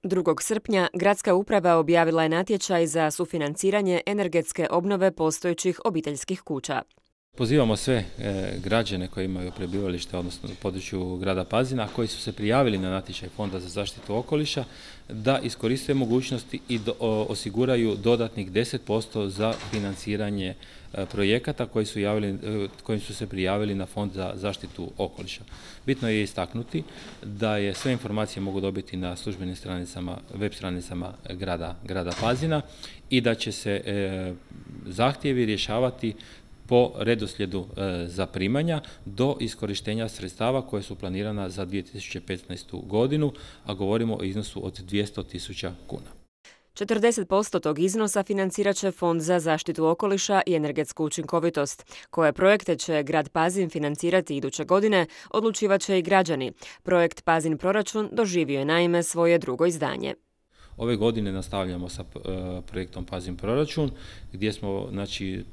2. srpnja gradska uprava objavila je natječaj za sufinanciranje energetske obnove postojećih obiteljskih kuća. Pozivamo sve građane koji imaju prebivalište, odnosno na području grada Pazina, koji su se prijavili na natječaj Fonda za zaštitu okoliša, da iskoriste mogućnosti i osiguraju dodatnih 10% za financiranje projekata koji su se prijavili na Fond za zaštitu okoliša. Bitno je istaknuti da je sve informacije mogu dobiti na službenim stranicama, web stranicama grada Pazina i da će se zahtjevi rješavati po redoslijedu zaprimanja do iskorištenja sredstava koje su planirana za 2015. godinu, a govorimo o iznosu od 200.000 kuna. 40% tog iznosa financirat će Fond za zaštitu okoliša i energetsku učinkovitost. Koje projekte će grad Pazin financirati iduće godine, odlučivat će i građani. Projekt Pazin proračun doživio je naime svoje drugo izdanje. Ove godine nastavljamo sa projektom Pazin proračun, gdje smo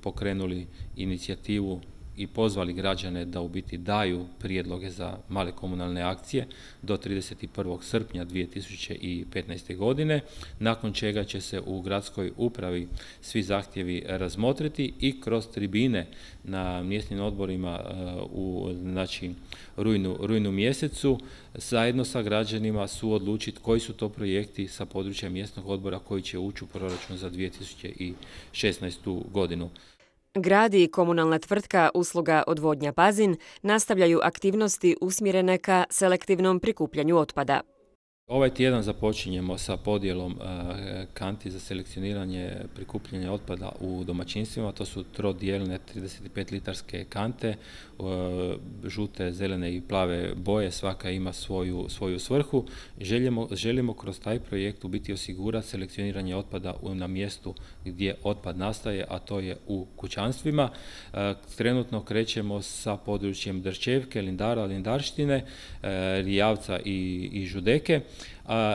pokrenuli inicijativu i pozvali građane da u biti daju prijedloge za male komunalne akcije do 31. srpnja 2015. godine, nakon čega će se u gradskoj upravi svi zahtjevi razmotriti i kroz tribine na mjesnim odborima u rujnu mjesecu zajedno sa građanima suodlučiti koji su to projekti sa područja mjesnog odbora koji će ući u proračun za 2016. godinu. Grad i komunalna tvrtka Usluga odvodnja Pazin nastavljaju aktivnosti usmjerene ka selektivnom prikupljanju otpada. Ovaj tjedan započinjemo sa podjelom kanti za selekcioniranje prikupljanja otpada u domaćinstvima. To su trodijelne 35-litarske kante, žute, zelene i plave boje, svaka ima svoju svrhu. Želimo kroz taj projekt u biti osigurati selekcioniranje otpada na mjestu gdje otpad nastaje, a to je u kućanstvima. Trenutno krećemo sa područjem Drčevke, Lindara, Lindarštine, Rijavca i Žudeke.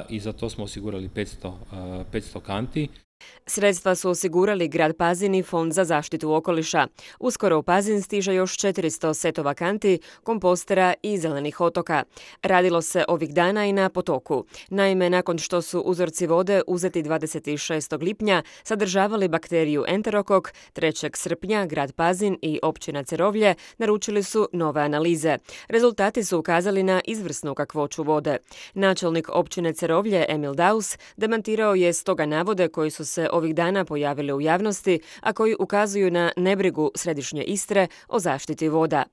I za to smo osigurali 500 kanti. Sredstva su osigurali grad Pazin i Fond za zaštitu okoliša. Uskoro u Pazin stiže još 400 setova kanti, kompostera i zelenih otoka. Radilo se ovih dana i na potoku. Naime, nakon što su uzorci vode uzeti 26. lipnja sadržavali bakteriju enterokok, 3. srpnja grad Pazin i općina Cerovlje naručili su nove analize. Rezultati su ukazali na izvrsnu kakvoću vode. Načelnik općine Cerovlje Emil Daus demantirao je stoga navode koji su se ovih dana pojavili u javnosti, a koji ukazuju na nebrigu središnje Istre o zaštiti voda.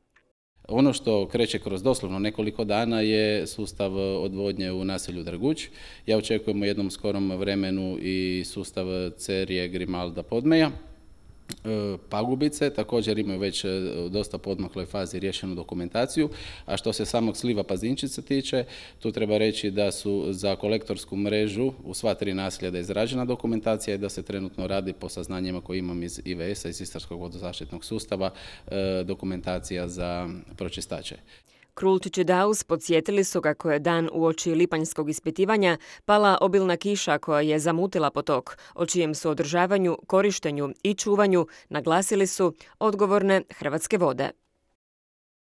Ono što kreće kroz doslovno nekoliko dana je sustav odvodnje u naselju Draguć. Ja očekujem u jednom skorom vremenu i sustav Cerje, Grimalda, Podmeja. Pagubice također imaju već dosta podmakloj fazi rješenu dokumentaciju, a što se samog sliva Pazinčice tiče, tu treba reći da su za kolektorsku mrežu u sva 3 naselja izrađena dokumentacija i da se trenutno radi po saznanjima koje imam iz IVS-a, iz Istarskog vodozaštitnog sustava, dokumentacija za pročistače. Krulčić i Daus podsjetili su kako je dan uoči lipanjskog ispitivanja pala obilna kiša koja je zamutila potok, o čijem su održavanju, korištenju i čuvanju naglasili su odgovorne Hrvatske vode.